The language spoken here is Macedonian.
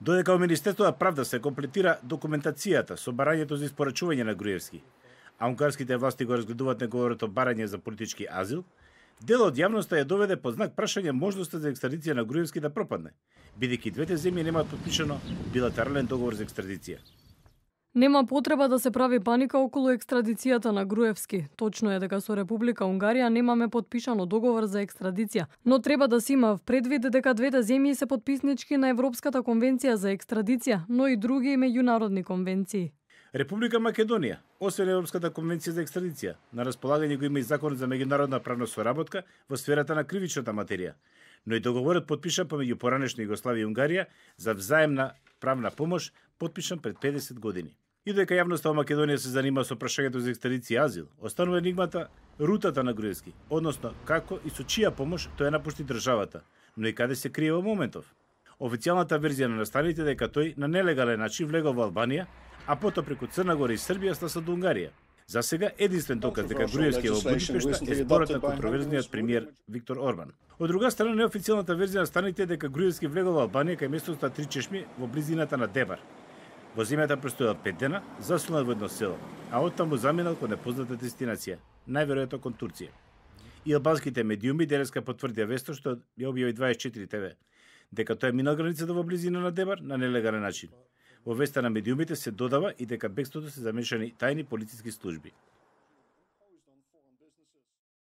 Додека во Министерството на правда се комплетира документацијата со барањето за испорачување на Груевски, а унгарските власти го разгледуваат неговото барање за политички азил, дел од јавноста ја доведе под знак прашање можноста за екстрадиција на Груевски да пропадне, бидејќи двете земји немаат потпишано билатерален договор за екстрадиција. Нема потреба да се прави паника околу екстрадицијата на Груевски. Точно е дека со Република Унгарија немаме потпишано договор за екстрадиција, но треба да се има предвид дека двете земји се потписнички на Европската конвенција за екстрадиција, но и други меѓународни конвенции. Република Македонија, освен Европската конвенција за екстрадиција, на располагање го има и Закон за меѓународна правна соработка во сферата на кривичната материја, но и договорот потпишан помеѓу поранешна Југославија и Унгарија за взаемна правна помош, потпишан пред 50 години. И дека јавноста во Македонија се занима со прашањето за екстрадиција и азил, останува енигмата рутата на Груевски, односно како и со чија помош тој ја напушти државата, но и каде се крие во моментов. Официјалната верзија на настаните дека тој на нелегален начин влегол во Албанија, а потоа преку Црна Гора и Србија стаса до Унгарија. За сега единствен доказ дека Груевски е во Будипешта е зборот на контроверзниот премиер Виктор Орбан. Од друга страна, неофицијалната верзија на настаните е дека Груевски влегол во Албанија кај местото на Три чешми во близината на Дебар. Во земјата престојал 5 дена, засунал во едно село, а оттаму заминал кон непозната дестинација, најверојатно кон Турција. И албанските медиуми денеска потврдија веста што ја објави 24 ТВ, дека тој минал границата во близина на Дебар на нелегален начин. Во веста на медиумите се додава и дека бегството се замешани тајни полициски служби.